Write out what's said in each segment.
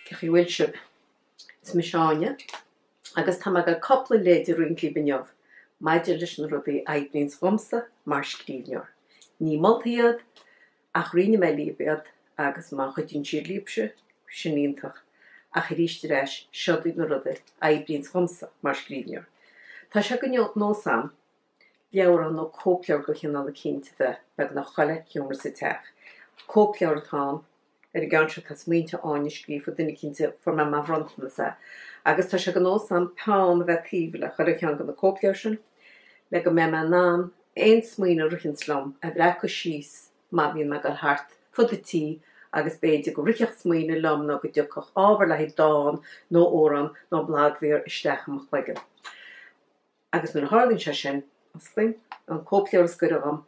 Cén chaoi a bhfuil sibh? Is mise Áine agus tá mé ag dul cúpla leid a roinnt libh inniu maidir leis na rudaí a oibríonns dhomsa mar scríbhneoir. Ní moltaí iad ach roinnfidh mé libh iad agus má chuidíonn siad libhse, sin iontach ach arís ar ais, seod iad na rudaí a oibríonns dhomsa mar scríbhneoir. Tá sé de nós a'm leabhrán nó cóipleabhar de chineál eicínt a bheith beagnach chuile sheomra sa teach. Cóipleabhar atá ann. Ar an gceann seo tá Smaointe Áine scríofa, duine eicínt a fuair mé mar bhronntanas é. Agus tá sé de nós a'm peann a bheith taobh le chuile cheann de na cóipleabhair sin le go mbeidh mé in ann aon smaoineamh a ritheanns liom a bhreacadh síos má bhíonn mé ag dul thart fud an tí agus b'fhéidir go rithfeadh smaoineamh liom nó go dtiocfadh ábhar le haghaidh dán nó amhrán nó blagmhír isteach i mo chloigeann. Agus nuair a tharlaíonn sé sin, osclaím an cóipleabhar is gaire dhom,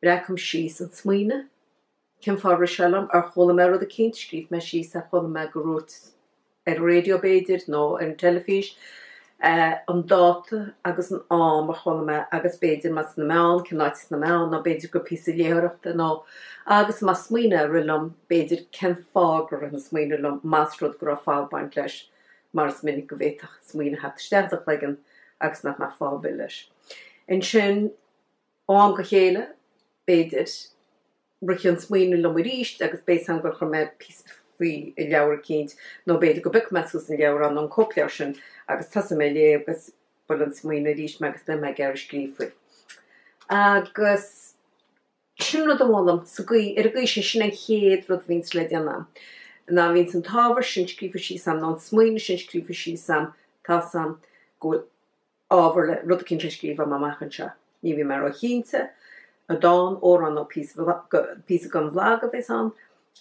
breacaim síos an smaoineamh, cén fáth ar rith sé liom, ar chuala mé rud eicínt, scríobh mé síos ar chuala mé gur dhúirt ar an raidió b'fhéidir, nó ar an teilifís, an dáta agus an am a chuala mé agus b'fhéidir más sna meáin, cén áit sna meáin, nó b'fhéidir gur píosa léitheoireachta nó, agus más smaoineamh a rith liom, b'fhéidir cén fáth gur rith an smaoineamh liom, más rud go raibh fáth ag baint leis. mar is minic go bhféadfadh smaoineamh theacht isteach i do chloigeann agus nach mbeadh fáth ar bith leis. Ansin, ó am go chéile, b'fhéidir, rithfidh an smaoineamh liom arís agus beidh 'fhios a'm gur chuir mé píosa faoi i leabhar eicínt nó b'fhéidir go bpiocfaidh mé suas an leabhrán nó an cóipleabhar sin agus tosóidh mé ag léamh agus buailfidh an smaoineamh arís mé agus beidh mé ag iarraidh scríobh faoi. Agus. Sin rud a mholaim, sa gcaoi, ar an gcaoi sin, sin an chéad rud a bhíonns le déanamh a'm, ná bhíonns an t-ábhar sin scríofa síos a'm, nó an smaoineamh sin scríofa síos a'm, tá's a'm go bhfuil ábhar le, rud eicínt le scríobh a'm amach anseo. Ní bhíonn mé ró-chinnte, an dán, amhrán nó píosa, píosa don bhlag a bheas ann,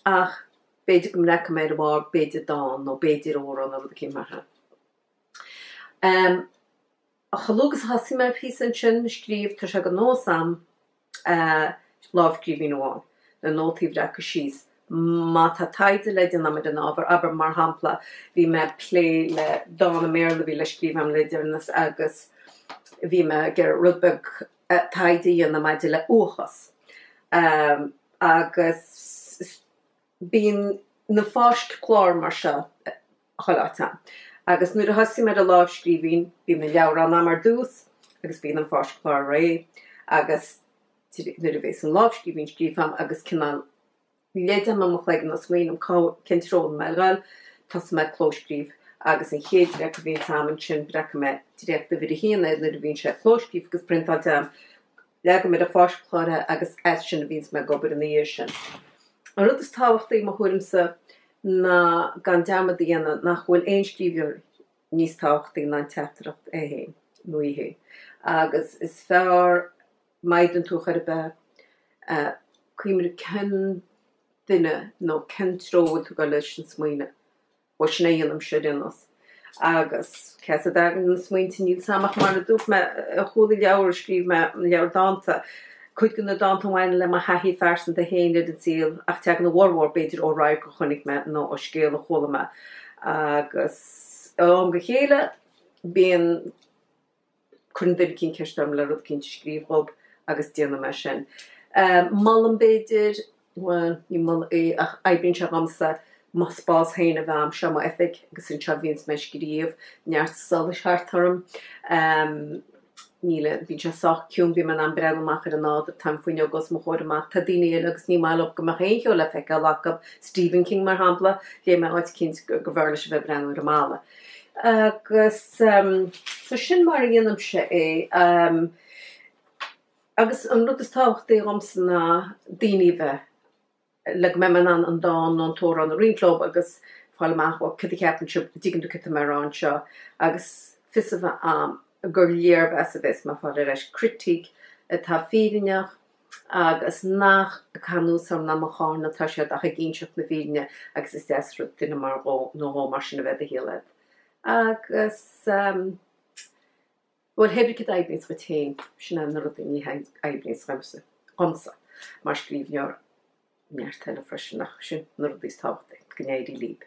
ach b'fhéidir go mbreacfaidh mé ar a bharr, b'fhéidir dán nó b'fhéidir amhrán nó rud eicínt mar sin. Chomh luath agus a thosaigh mé ar phíosa ansin a scríobh, tá sé de nós a'm lámhscríbhinn amháin, na nótaí a bhreacadh síos. Má tá taighde le déanamh a'm ar an ábhar, abair mar shampla, bhí mé ag plé le dán i mBéarla a bhí le scríobh a'm le deireanas agus bhí mé ag iarraidh rud beag taighde a dhéanamh maidir le uathachas. Agus bíonn na fáisc-chláir mar seo chuile áit a'm. Agus nuair a thosaím ar an lámhscríbhinn, bíonn an leabhrán a'm ar dtús agus bíonn an fáisc-chlár réidh agus nuair a bhéas an lámhscríbhinn scríofa a'm agus cineál leid a'm i mo chloigeann nó smaoiním cá, cén treo a bhfuil mé ag dul, tosóidh mé ag clóscríobh agus an chéad dréacht a bhíonns a'm ansin breacfaidh mé dréacht uimhir a haon air nuair a bhíonn sé clóscríofa agus priontáilte a'm. Leagaim ar an fáisc-chlár é agus as sin a bhíonns mé ag obair ina dhiaidh sin. An rud is tábhachtaí, i mo thuairimse, ná gan dearmad a dhéanamh nach bhfuil aon scríbhneoir níos tábhachtaí ná an teachtaireacht é féin nó í féin. Agus is fearr, má fhéadann tú chor ar bith, cuimhnigh cén duine nó cén treo a bhfuil tú ag dul leis an smaoineamh. Bhuel, sin é a dhéanaimse ar aon nós. Agus cé as a dtagann na smaointe, níl 's a'm ach mar a dúirt mé, ar chúl an leabhair a scríobh mé, an leabhar dánta, cuid de na dánta a bhaineann le mo thaithí phearsanta féin ar an saol ach tagann a bhformhór, b'fhéidir, ó radharc a chonaic mé nó ó scéal a chuala mé. Agus ó am go chéile, bíonn. Cuireann duine eicínt ceist orm le rud eicínt a scríobh dhób agus déanaim é sin. Molaim b'fhéidir, bhuel, ní moladh é ach oibríonn sé dhomsa, mo spás féin a bheith a'm, seo m'oifig agus anseo a bhíonns mé ag scríobh, neart solais thart orm. Níl, bíonn sé sách ciúin, bíonn mé in ann breathnú amach ar an nádúr, tá an fuinneog os mo chomhair amach. Tá daoine eile agus ní maith leo go mbeadh aon cheo le feiceáil acu, Stephen King mar shampla, léigh mé áit eicínt go mb'fhearr leis a bheith ag breathnú ar an mballa. Agus so sin mar a dhéanaimse é. Agus an rud is tábhachtaí dhomsa ná daoine a bheith, le go mbeidh mé in ann an dán nó an t-amhrán a roinnt leo agus fáil amach, bhuel, cad a cheapann sibh, an dtuigeann tú cad tá mé a rá anseo? Agus fios a bheith a'm gur léirmheas a bheas mé ag fáil ar ais, critique atá fírinneach, agus nach ag caitheamh anuas orm ná mo cháineadh atá siad ach ag inseacht na fírinne agus is deas rud duine mar dhó nó dhó mar sin a bheith i do shaol agat. Agus, bhuel, hé brí cad a oibríonns dhuit féin, sin é na rudaí ní oibríonns dhomsa, dhomsa mar scríbhneoir, neart eile freisin ach sin na rudaí is tábhachtaí, go n-éirí libh.